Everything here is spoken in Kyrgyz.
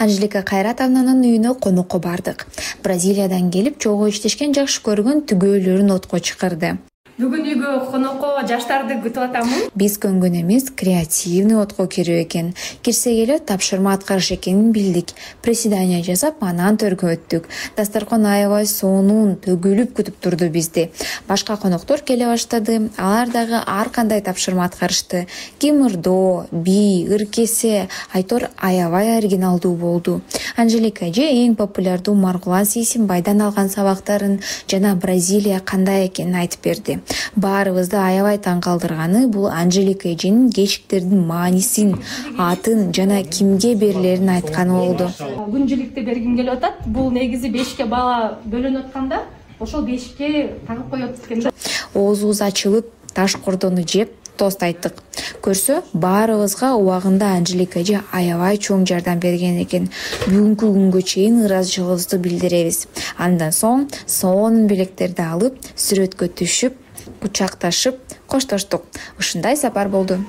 Анжелика Кайратовнанын үйүнө конокко бардык. Бразилиядан келип, чогуу иштешкен, жакшы көргөн түгөөлөрүн отко чакырды. Бүгүн үйгө конокко жаштарды күтүп атамын. Биз көнгөн эмес, креативный отко кирүү экен. Кирсек эле тапшырма аткарыш экенин билдик. Приседание жасап, анан төргө өттүк. Дасторкон аябай сонун, төгүлүп күтүп турду бизди. Башка коноктор келе баштады. Алар дагы ар кандай тапшырма аткарышты. Кимирдоо, би, ыркесе, айтор аябай оригиналдуу болду. Анжелика эже эң популярдуу Маргулан Сейсенбайдан алган сабактарын жана Бразилия кандай экенин айтып берди. Баарыбызды аябай таң калтырганы бул Анжелика эженин кечиктердин маанисин, атын жана кимге берилерин айтканы болду. Күнчүлүктү бергим келип атат. Бул негизи 5ке бала бөлүнүп атканда, ошол 5ке тагып коет экен да. Оозубуз ачылып, таш кордону жеп, тост айттык. Көрсө, баарыбызга убагында Анжелика эже аябай чоң жардам берген экен. Бүгүнкү күнгө чейин ыраазычылыгыбызды билдиребиз. Андан соң сонун белектерди алып, сүрөткө түшүп, кучакташып, коштоштук. Ушундай сапар болду.